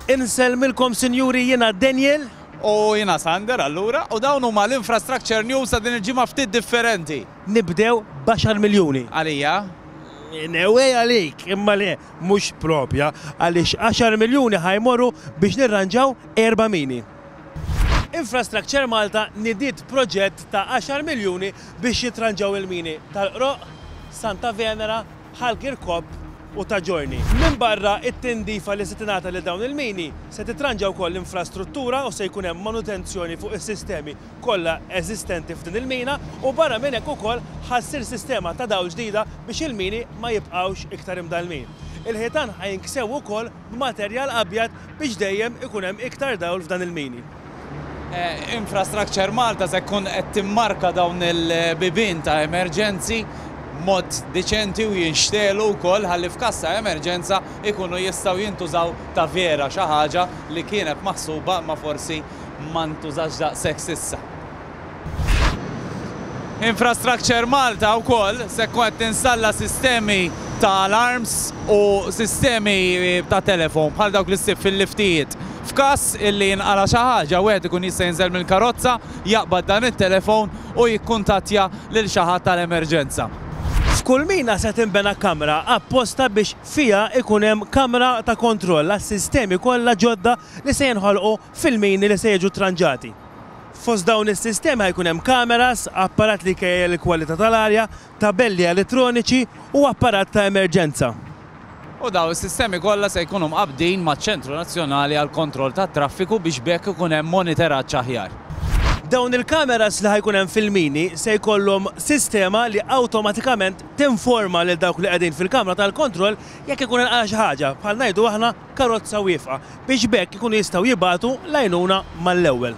Insellmilkom sinjuri jiena Daniel. U jiena Sander allura, u dawn huma l-Infrastructure News ta' din il-ġimgħa ftit differenti. Nibdew b'għaxar miljuni. Għalija? In a way għalik, imma le, mhux propja, għaliex għaxar miljuni ħa jmorru biex nirranġaw erba' mini. Infrastructure Malta nidiet proġett ta' għaxar miljuni biex jitranġaw il-mini tal-Qroqq, Santa Venera, Ħal Kirkop u Ta' Ġorni. Minbarra t-tindifa li se tingħata lil dawn il-mini, se titranġa wkoll l-infrastruttura u se jkun hemm manutenzjoni fuq is-sistemi kollha eżistenti f'din il-mina u barra minn hekk ukoll ħa ssir sistema ta' dawl ġdida biex il-mini ma jibqgħux iktar imdallmin. Il-ħitan ħa jinksew ukoll b'materjal abjad biex dejjem ikun hemm iktar dawl f'dan il-mini. Infrastructure Malta se tkun qed timmarka dawn il-bibien ta' emerġenzi b'mod diċenti u jinxtegħlu wkoll ħalli f'każ ta' emerġenza jkunu jistgħu jintużaw ta' vera, xi ħaġa li kienet maħsuba imma forsi ma ntużatx daqshekk s'issa. Infrastructure Malta wkoll se tkun qed tinstalla sistemi ta' alarms u sistemi ta' telefon bħal dawk li ssib fil-liftijiet. F'każ illi jinqala' xi ħaġa wieħed ikun jista' jinżel mill-karozza, jaqbad dan it-telefon u jikkuntattja lil xi ħadd tal-emerġenza. F'kull mina se tinbena kamra apposta biex fiha jkun hemm kamra ta' kontroll għas-sistemi kollha ġodda li se jinħolqu fil-mini li se jiġu tranġati. Fost dawn is-sistemi ħa jkun hemm kameras, apparat li jkejjel il-kwalità tal-arja, tabelli elettroniċi u apparat ta' emerġenza. U dawn is-sistemi kollha se jkunu mqabbdin maċ-Ċentru Nazzjonali għall-Kontroll tat-Traffiku biex b'hekk ikun hemm moniteraġġ aħjar. Dawn il-kameras li ħa jkun hemm fil-mini se jkollhom sistema li awtomatikament tinforma lil dawk li qegħdin fil-kamra tal-kontroll jekk ikun inqala' xi ħaġa, bħal ngħidu aħna karozza wieqfa biex b'hekk ikunu jistgħu jibagħtu l-għajnuna mal-ewwel.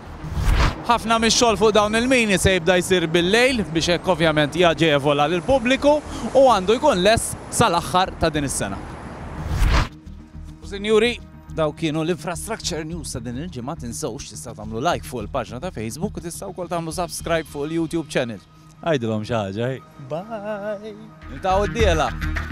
Ħafna mix-xogħol fuq dawn il-mini se jibda jsir bil-lejl biex hekk ovvjament jaġevola lill-pubbliku u għandu jkun lest sal-aħħar ta' din is-sena. U sinjuri, dawk kienu l-Infrastructure News ta' din il-ġimgħa, tinsewx tistgħu tagħmlu like fuq il-paġna ta' Facebook u tistgħu wkoll tagħmlu subscribe fuq il-YouTube channel. Għidilhom xi ħaġa, hi. Bye! Niltaqgħu d-dieħla!